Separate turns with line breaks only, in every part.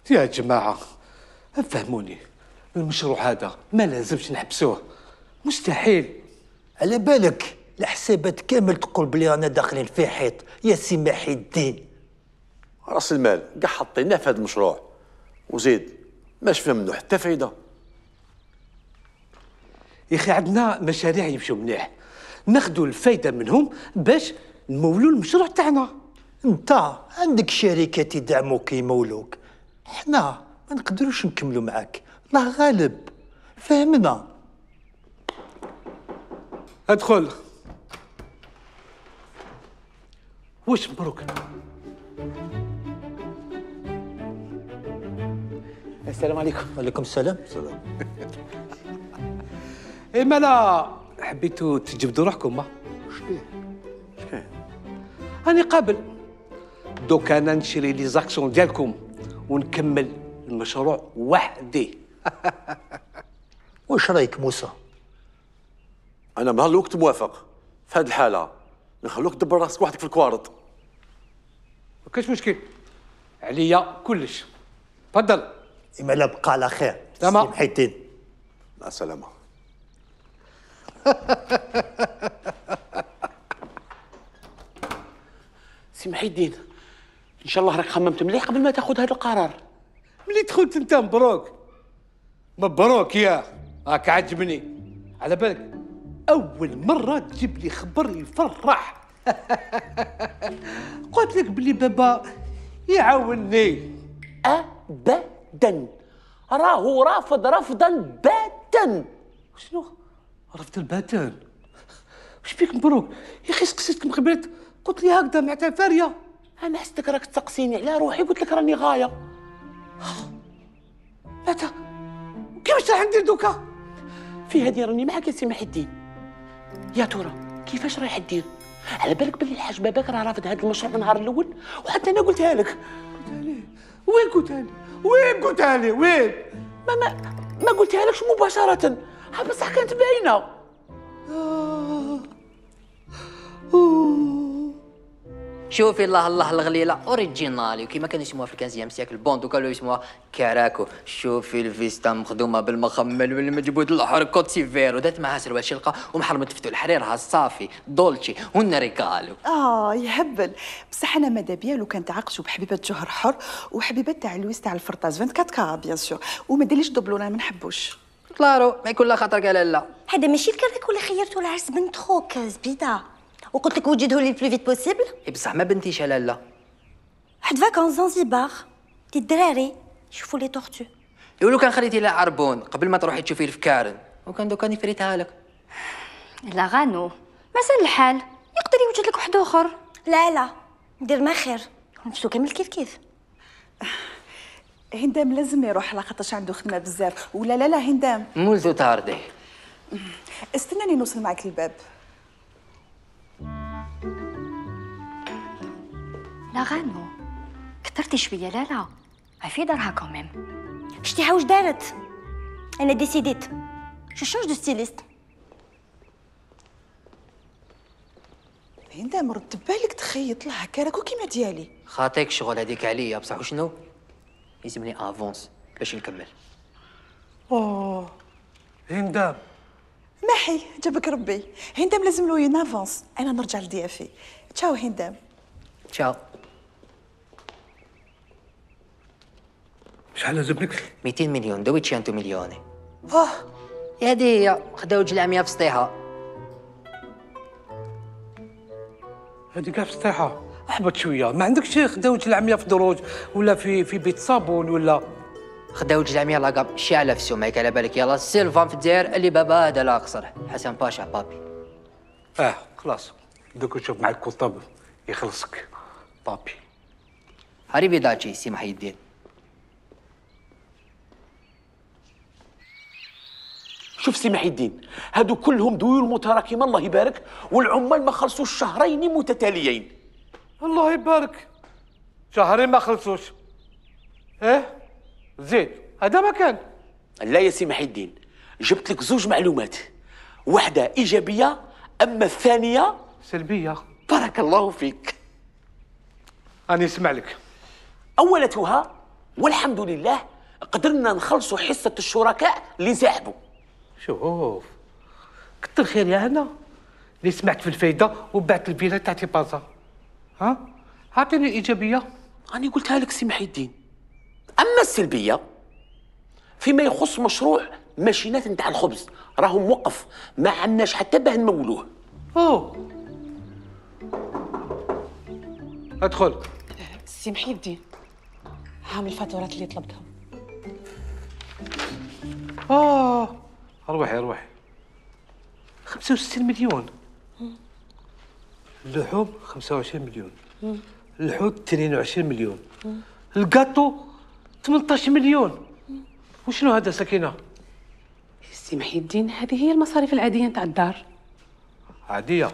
يا جماعة فهموني، المشروع هذا ما لازمش نحبسوه، مستحيل.
على بالك الحسابات كامل تقول بلي رانا داخلين في حيط يا سي محي الدين.
راس المال كاع حطيناه في هذا المشروع وزيد ما شفنا منه حتى فايده.
يا اخي عندنا مشاريع يمشوا مليح، ناخذوا الفايده منهم باش نمولوا المشروع تاعنا.
انت عندك شركات يدعموك يمولوك، حنا ما نقدروش نكملوا معاك، الله غالب، فهمنا.
ادخل. واش مبروك؟ السلام عليكم.
وعليكم السلام.
اي مالا حبيتوا تجبدوا روحكم ما؟
شكون؟
راني قابل. دوك انا نشري لي زاكسيون ديالكم ونكمل المشروع وحدي.
واش رايك موسى؟
انا نهار الوقت موافق، في هذه الحاله نخلوك تدبر راسك وحدك في الكوارط.
ما كاينش مشكل، عليا كلش. تفضل.
إما لا بقى على خير.
تمام.
سي محي الدين.
مع السلامه.
سي محي الدين، ان شاء الله راك خممت مليح قبل ما تاخذ هذا القرار.
ملي دخلت انت مبروك. مبروك يا راك عجبني. على بالك اول مره تجيب لي خبر يفرح. قلت لك بلي بابا يعاونني.
ابدا، راهو رافض رفضا باتا.
شنو رفض الباتان؟ واش بيك مبروك يا اخي؟ سقسيتك من قبل قلت لي هكذا معناتها فاريه.
انا حسيتك راك تسقسيني على روحي، قلت لك راني غايه.
متى كيفاش راح ندير دوكا؟
في هذه راني معك يا سي محي الدين. يا ترى كيفاش رايح دير؟ على بالك بلي الحاج باباك راه رافض هذا المشروع من النهار الاول، وحتى انا قلتها لك.
وين قلتها لي؟ وين قلتها لي؟ وين؟
ما قلتها لكش مباشره، بصح كانت باينه.
شوفي الله الله الغليله اوريجينالي وكيما كانوا يسموها في الكنزيام سياكل بوند وكانوا يسموها كاراكو. شوفي الفيستا مخدومه بالمخمل والمجبود الاحمر كوتسيفير ودات معها سروال شلقه ومحرمه تفتو الحريرها الصافي دولتشي والنريكالو.
يهبل. بصح انا ماذا بيا لو كان تعاقشوا بحبيبه جوهر حر وحبيبه تاع لويس تاع الفرطاس 24 كارا بيان سور، وما ديرليش دوبلونا ما نحبوش.
كلارو ما يكون لا خاطر قال لا.
هذا ماشي الكراك ولا خيرتو العرس بنت خوك زبيده، وقلت لك وجده لي بلو فيت بوسيبل.
اي بصح ما بنتيش على لا.
واحد فاكونس زنزبار دي الدراري يشوفوا لي طورتو.
يقولوا كان خليتي لها عربون قبل ما تروحي تشوفي في كارن، وكان دوكا فريتها لك.
لا غانو مازال الحال، يقدر يوجد لك واحد اخر. لا ندير ما خير، نمشيو كامل كيف.
هندام لازم يروح لاخاطرش عنده خدمه بزاف. ولا لا هندام
مولتو تاردي.
استناني نوصل معك الباب.
لا غانو كثرتي شويه. لا في دارها كوميم. شتيها واش دارت؟ انا ديسيديت جو شونج دو ستيليست.
هندام رد بالك تخيط لها كراكو كيما ديالي.
خاطيك شغل هذيك عليا بصح وشنو؟ يلزمني افونس باش نكمل.
هندام
محي جابك ربي. هندام لازم له ينافونس، انا نرجع لضيافي. تشاو هندام.
تشاو.
شحال لازم لك؟
200 مليون دوي 100 مليوني. يا هي خداو جلعميه في سطيحه.
هذه كاع في السطيحه. احبط شويه، ما عندكش خداوج العميه في دروج ولا في بيت صابون ولا؟
خداو الجلعميه لاكاب شاعله في السمعك على بالك. يلا سيلفان في الجزائر اللي بابا هذا لا قصر حسن باشا بابي.
خلاص دوك نشوف مع الكتاب يخلصك بابي.
هاريبي داتشي سي محي الدين.
شوف سي محي الدين، هادو كلهم ديون متراكمه الله يبارك، والعمال ما خلصوش شهرين متتاليين.
الله يبارك، شهرين ما خلصوش. زيد هذا ما كان.
لا يا سي محي الدين، جبت لك زوج معلومات، واحده ايجابيه اما الثانيه
سلبيه.
بارك الله فيك.
أنا اسمع لك.
اولتها والحمد لله قدرنا نخلصوا حصه الشركاء اللي انسحبوا.
شوف كتر خير يا هنا اللي سمعت في الفايده وبعت الفيلا تاعتي بازا. ها اعطيني الايجابيه.
راني قلتها لك سي محي الدين. اما السلبيه فيما يخص مشروع ماشينات نتاع الخبز راهو موقف، ما عندناش حتى باه نمولوه.
اوه ادخل.
سي محي الدين، هام الفاتورات اللي طلبتهم.
روحي 65 مليون. اللحوم 25 مليون. الحوت 22 مليون. الكاطو 18 مليون. وشنو هذا سكينة؟
سي محي الدين، هذه هي المصاريف العادية نتاع الدار.
عادية؟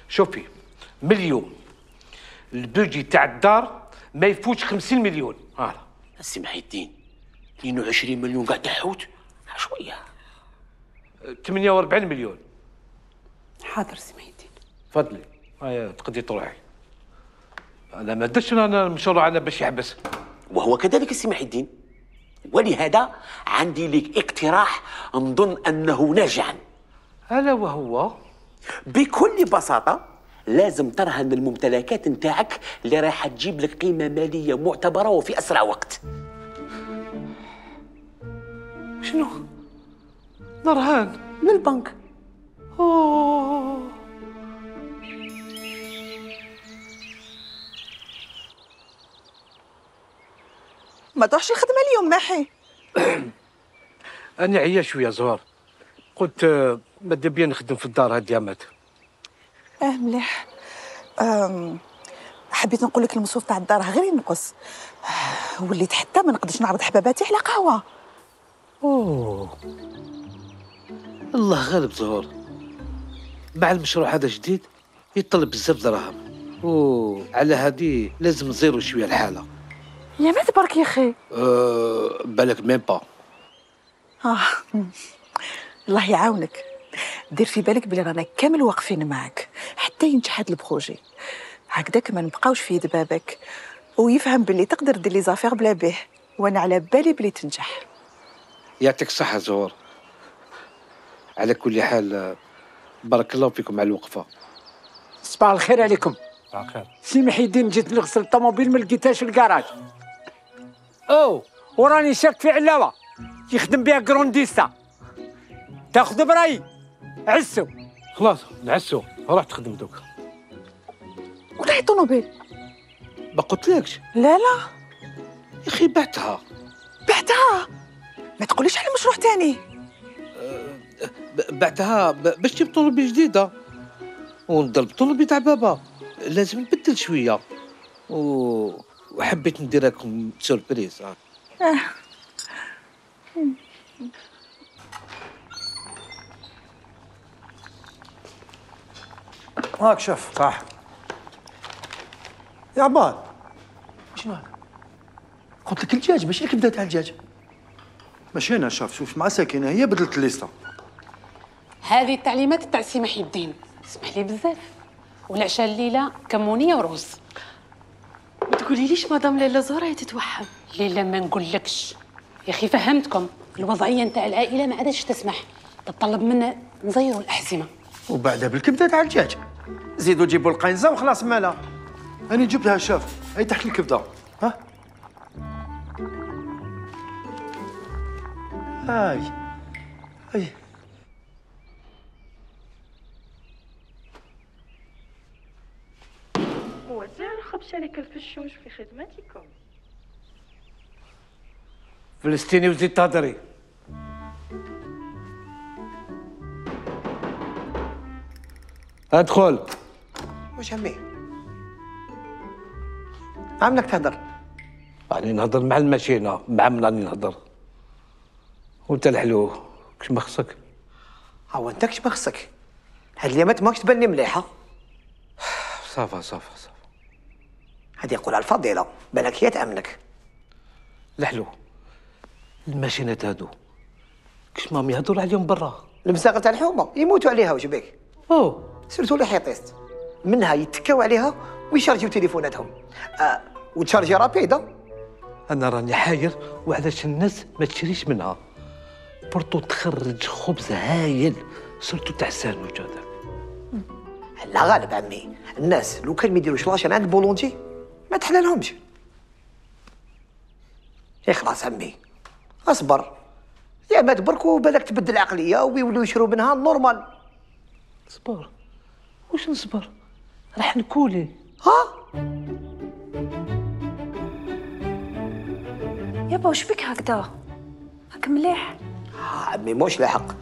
شوفي، مليون البودجي تاع الدار ما يفوتش 50 مليون.
سي محي الدين 22 مليون قاع تاع حوت شويه.
48 مليون.
حاضر سي محي الدين.
تفضلي هيا تقدري تروحي. انا ما درتش انا المشروع انا باش يحبس.
وهو كذلك سي محي الدين، ولهذا عندي لك اقتراح نظن انه ناجعا.
الا وهو
بكل بساطه لازم ترهن الممتلكات نتاعك اللي راح تجيب لك قيمه ماليه معتبره وفي اسرع وقت.
شنو؟ نرهان
من البنك.
اوه
ما تروحش الخدمه اليوم محي؟
انا عيا شويه زهر، قلت ماذا بيا نخدم في الدار هاد يامات.
مليح. حبيت نقول لك المصروف تاع الدار غير ينقص. وليت حتى ما نقدرش نعرض حباباتي على قهوه.
اوه الله غالب زهور، مع المشروع هذا جديد يطلب بزاف دراهم، على هذه لازم نزيرو شويه الحاله.
يا ما تبارك يا اخي.
بالك ميم با.
الله يعاونك. دير في بالك بلي رانا كامل واقفين معك حتى ينجح هذا البروجي، هكذاك ما نبقاوش في يد بابك ويفهم بلي تقدر دير لي زافير بلا بيه، وانا على بالي بلي تنجح.
يعطيك الصحه زهور. على كل حال بارك الله فيكم على الوقفه.
صباح الخير عليكم.
صباح الخير.
سي محي الدين، جيت نغسل الطوموبيل ما لقيتهاش في الكراج. وراني شاك في علاوه يخدم بها كرونديستا. تاخذ برايي عسو.
خلاص نعسو، روح تخدم دوك.
ولا هي طوموبيل؟
ما قلتلكش؟
لا
يا اخي بعتها.
بعتها؟ ما تقوليش على مشروع تاني.
بعتها باش تجيب طوموبيل جديده ونضرب طوموبيل تاع بابا، لازم نبدل شويه وحبيت ندير لكم سوربريز.
هاك شوف. صح يا عماد.
شنو هذا؟ قلت لك الدجاج ماشي الكبده تاع الدجاج.
ماشي انا شوف مع ساكنه هي بدلت الليسته.
هذه التعليمات تاع سي محي الدين، اسمح لي بزاف. والعشاء الليله كمونيه ورز.
ما تقوليليش مدام ليلى زهره هي تتوحم.
ليلى ما نقولكش يا اخي، فهمتكم الوضعيه نتاع العائله ما عادش تسمح، تطلب منا نزيروا الاحزمه
وبعدها بالكبده تاع الدجاج زيدوا جيبوا القنزه وخلاص مالها.
انا جبتها شاف هي تحت الكبده.
ها هاي
وزير الخبز شركة الفشوش في خدمتكم.
فلسطيني وزيد تهضري. ادخل.
واش همي؟ عاملك تهدر؟
راني نهضر مع الماشينه، مع من راني نهضر. وانت الحلو كش ما خصك؟
هو انت كش ما خصك؟ هاد اليامات ماكش تبان لي مليحه.
صافا
هادي يقولها الفضيله، بالك هي تامنك.
الحلو الماشينات هادو كش ماهم يهضروا عليهم برا.
المساقه تاع الحومه يموتوا عليها، واش بيك؟ سيرتو لي حيطيست منها يتكاو عليها ويشارجيو تليفوناتهم. وتشارجي رابيده
انا راني حاير وعلاش الناس ما تشريش منها. برضو تخرج خبز هايل سورتو تاع الساندويتش هذاك.
لا غالب عمي، الناس لو كان ما يديروش لاشين عند بولونتي ما تحلالهمش. يا خلاص عمي اصبر، يا ما تبركوا بالك تبدل العقليه ويولوا يشروا منها نورمال.
صبر واش نصبر؟ راح نكولي.
ها
يابا واش بك هكذا؟ هاك مليح.
عمي موش لاحق،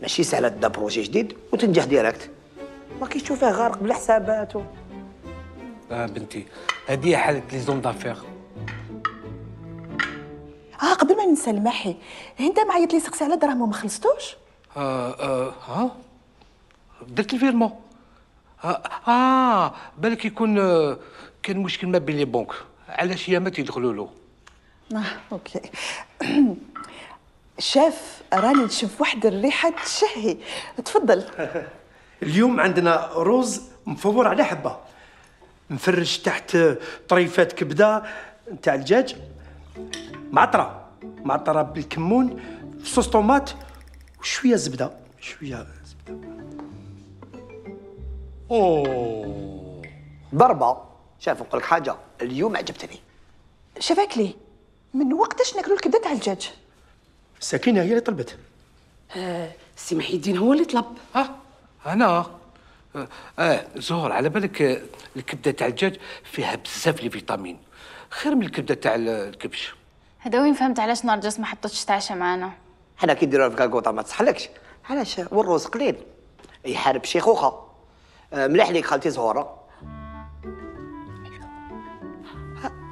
ماشي سهله تبدا بروجي جديد وتنجح ديريكت، ما كيش تشوفيه غارق بالحسابات
بنتي هذه حاله لي زون دافير.
قبل ما ننسى الماحي، انت معيط لي سقسي على دراهم وما خلصتوش؟
ها درت الفيرمون. بالك يكون كان مشكل ما بين لي بنك، علاش هي ما تيدخلوا له.
اوكي. شاف راني نشوف واحد الريحه تشهي، تفضل.
اليوم عندنا روز مفور على حبه، مفرش تحت طريفات كبده نتاع الدجاج، معطره بالكمون في صوص طوماط وشويه زبده.
اوه
ضربه. شاف نقول لك حاجه، اليوم عجبتني.
شباك لي من وقتاش ناكلوا الكبده تاع الدجاج؟
سكينه هي اللي طلبت.
سي محي الدين هو اللي طلب.
انا زهور على بالك الكبده تاع الدجاج فيها بزاف لي فيتامين، خير من الكبده تاع الكبش.
هذا وين فهمت علاش نرجس ما حطتش تعشى معانا.
حنا كي نديروها في كاكوطه ما تصحلكش، علاش؟ والروز قليل يحارب شيخوخه. مليح ليك خالتي زهوره.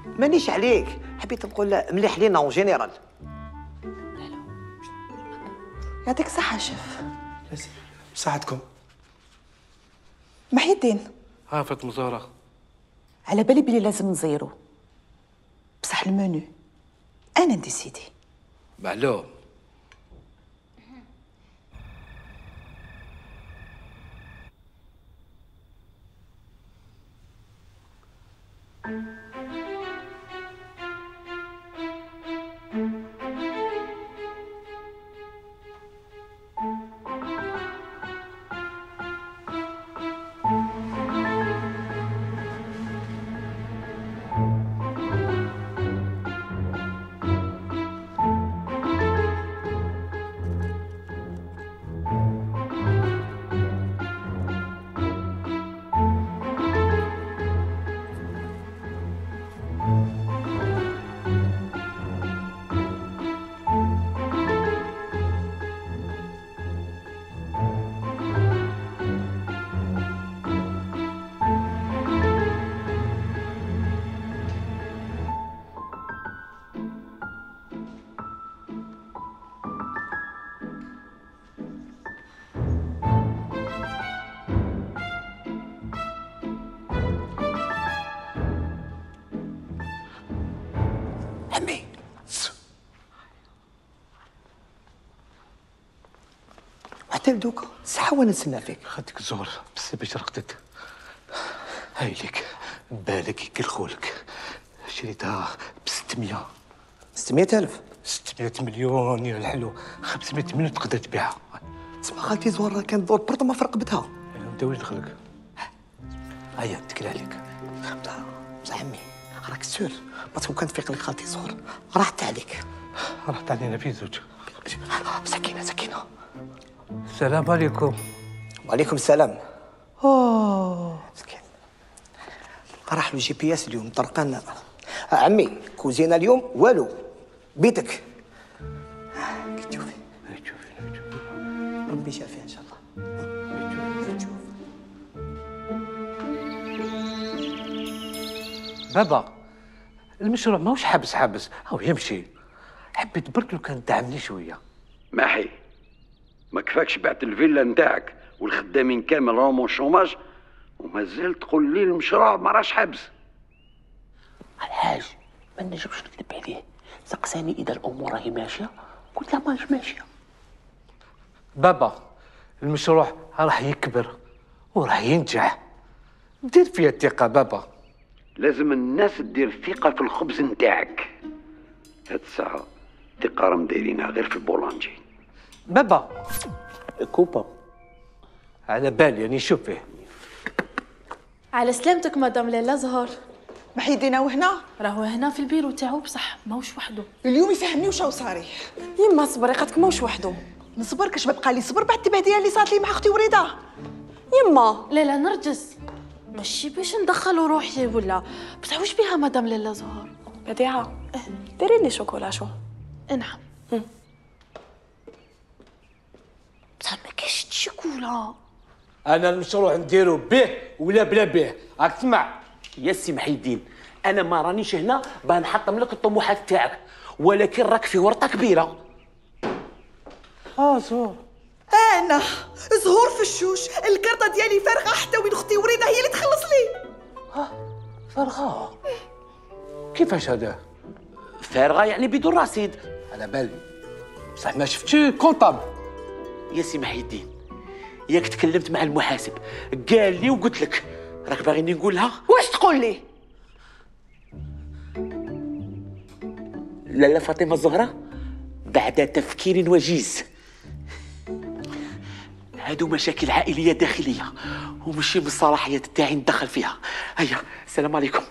مانيش عليك، حبيت نقول مليح لينا اون جينيرال.
يعطيك الصحه شيف.
بصحتكم.
محي الدين.
فاطمه زهره،
على بالي بلي لازم نزيرو، بصح المنيو انا نديسيدي.
معلوم.
عمي حتى لدوكا ساعه وانا نتسنى فيك.
خدك زهر بس باش رقدت. هاي لك بالك كي خولك شريتها ب 600.
600,000؟
600 مليون يا الحلو. 500 مليون تقدر تبيعها.
تسمع خالتي زهره كانت دور برطمه في رقبتها.
انت واش دخلك؟ هيا اتكل عليك.
بصح عمي راك سور باسكو كانت تفيق لك خالتي زهر راحت عليك.
راحت علينا في زوج.
سكينه.
السلام عليكم.
وعليكم السلام. مسكين راح له GPS اليوم طرقنا. عمي كوزينه اليوم والو بيتك. كي تشوفي ربي شافيه ان شاء الله.
بابا المشروع ماهوش حابس هو يمشي. حبيت برك لو كان دعمني شويه.
محي ما كفاكش بعت الفيلا نتاعك والخدامين كامل راهم شوماج ومازال تقول لي المشروع ما راش حابس.
الحاج ما نجمش نكذب عليه، سقساني اذا الامور راهي ماشيه قلت له ماهيش ماشيه.
بابا المشروع راح يكبر وراح ينجح، دير فيها الثقه بابا.
لازم الناس تدير ثقه في الخبز نتاعك، هاد الساعة تقارم دايرينها غير في البولانجي.
بابا
كوبا
على بالي راني نشوف فيه.
على سلامتك مدام ليلى زهر.
محي يدينا وهنا؟
راهو هنا في البيرو تاعو بصح ماهوش وحده.
اليوم يفهمني واش صاري. يما صبري قالك ماهوش وحده. نصبر كاش بقى لي صبر بعد التبهدله اللي صارت لي مع اختي وريده. يما
لا لا نرجس، ماشي باش ندخلوا روحي ولا بصح واش بيها مدام ليلى زهر؟
بديعه ديري لي شوكولا شو.
نعم. بصح ما كاينش الشوكولا.
انا المشروع نديرو به ولا بلا به، راك تسمع يا سي محي الدين. انا ما رانيش هنا باه نحطم لك الطموحات تاعك، ولكن راك في ورطه كبيره.
زهور
انا زهور في الشوش، الكرطه ديالي فارغه حتى وين اختي وريده هي اللي تخلص لي.
فارغه؟ كيفاش هذا؟
فارغه يعني بدون رصيد.
على بالي بصح ما شفتش كونطابل.
يا سي محي الدين ياك تكلمت مع المحاسب قال لي وقلت لك، راك باغيني نقولها؟
واش تقول لي؟
لاله فاطمه الزهراء بعد تفكير وجيز، هادو مشاكل عائليه داخليه ومشي من الصلاحيات تاعي ندخل فيها. هيا السلام عليكم.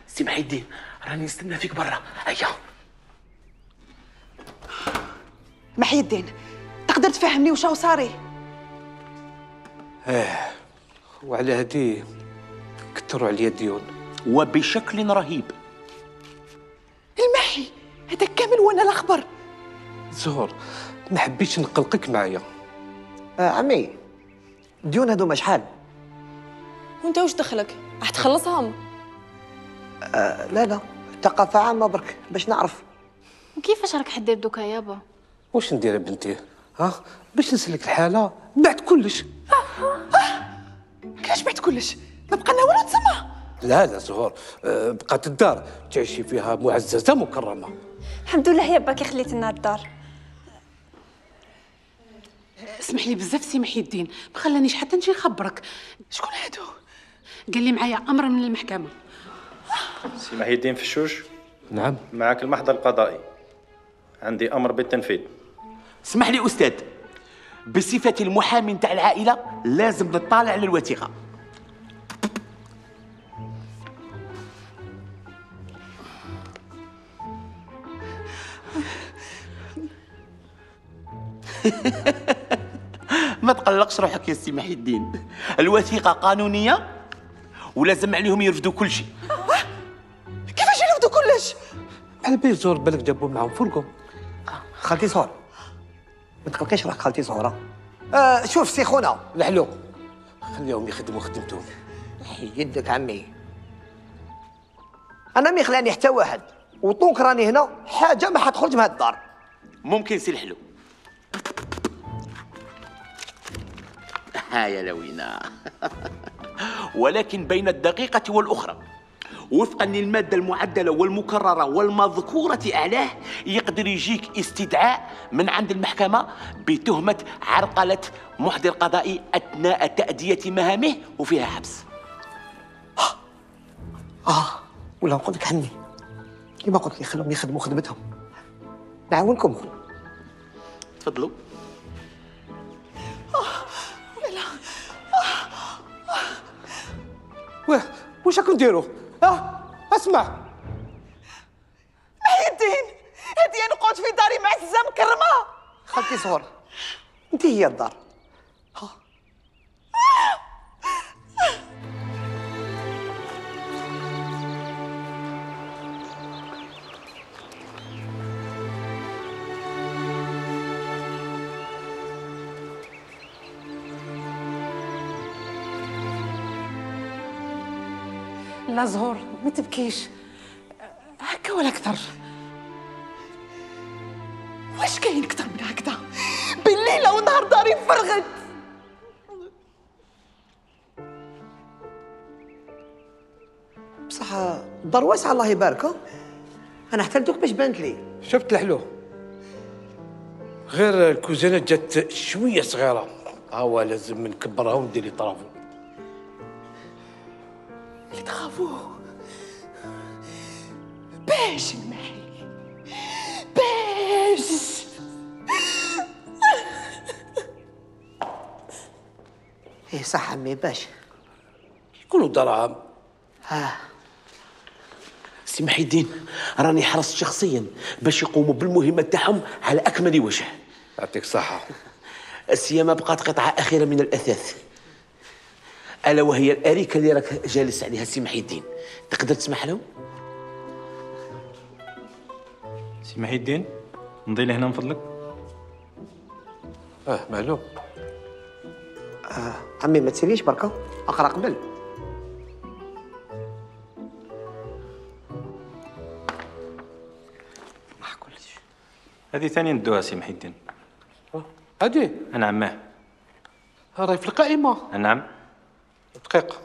سي محي الدين راني نستنى فيك برا. هيا
محي الدين تقدر تفهمني واش صاري؟
وعلى هادي كثروا عليا الديون
وبشكل رهيب.
المحي هذا كامل وانا الاخبر.
زهور ما حبيتش نقلقك معايا.
عمي الديون هذوما شحال؟
وانت واش دخلك؟ راح تخلصهم؟
لا لا ثقافة عامة برك باش نعرف.
وكيفاش راك حدير دوكا يابا؟
واش ندير بنتي؟ باش نسلك الحالة بعد كلش.
كيفاش بعد كلش؟ ما بقى لنا والو تسمى.
لا زهور بقات الدار تعيشي فيها معززة مكرمة.
الحمد لله يا باكي خليت لنا الدار.
اسمح لي بزاف سي محي الدين، ما خلانيش حتى نجي نخبرك.
شكون هادو؟
قال لي معايا امر من المحكمه.
سي محي الدين في الشوش.
نعم.
معك المحضر القضائي، عندي امر بالتنفيذ.
اسمح لي استاذ، بصفتي المحامي نتاع العائله لازم نطالع على الوثيقه. ما تقلقش روحك يا سي محي الدين، الوثيقه قانونيه ولازم عليهم يرفدوا كل شيء.
كيفاش يرفدوا كلش؟
على بالي زهور بالك جابوا معاهم فرقهم.
خالتي زهور ما تقلقيش راك خالتي زهورة. شوف سي خونا
الحلو خليهم يخدموا خدمتهم.
يدك عمي، انا ما يخلاني حتى واحد، وطونك راني هنا حاجه ما حتخرج من هاد الدار.
ممكن سي الحلو. ها يا لوينا. ولكن بين الدقيقة والأخرى وفقا للمادة المعدلة والمكررة والمذكورة أعلاه يقدر يجيك استدعاء من عند المحكمة بتهمة عرقلة محضر قضائي أثناء تأدية مهامه وفيها حبس.
ولا نقول لك عمي كيما قلت لي خلهم يخدموا خدمتهم، نعاونكم.
تفضلوا.
واش راكم ديروا؟ اسمع
محي الدين هادي انا نقعد في داري معززه مكرمه.
خالتي زهور انت هي الدار.
لا زهور ما تبكيش هكا ولا اكثر.
واش كاين اكثر من هكذا؟ بالليل ونهار داري فرغت.
بصح الدار واسعه الله يبارك. انا احتلتك باش بانت لي.
شفت الحلو غير الكوزينه جات شويه صغيره، هو لازم نكبرها وندير لي طرافو.
اللي تخافوا باش نمحي باش.
ايه صح عمي باش
يكونوا دراهم. سي محي الدين راني حرصت شخصيا باش يقوموا بالمهمه تاعهم على اكمل وجه.
يعطيك الصحه.
السيما بقات قطعه اخيره من الاثاث، الا وهي الاريكه اللي راك جالس عليها سي محي الدين. تقدر تسمح له؟
سي محي الدين نضي لهنا من فضلك.
معلوم.
عمي ما تسيريش بركه اقرا قبل.
هذه ثاني ندوها سي محي الدين.
هادي
انا عماه.
راهي في القائمه.
نعم.
دقيقه.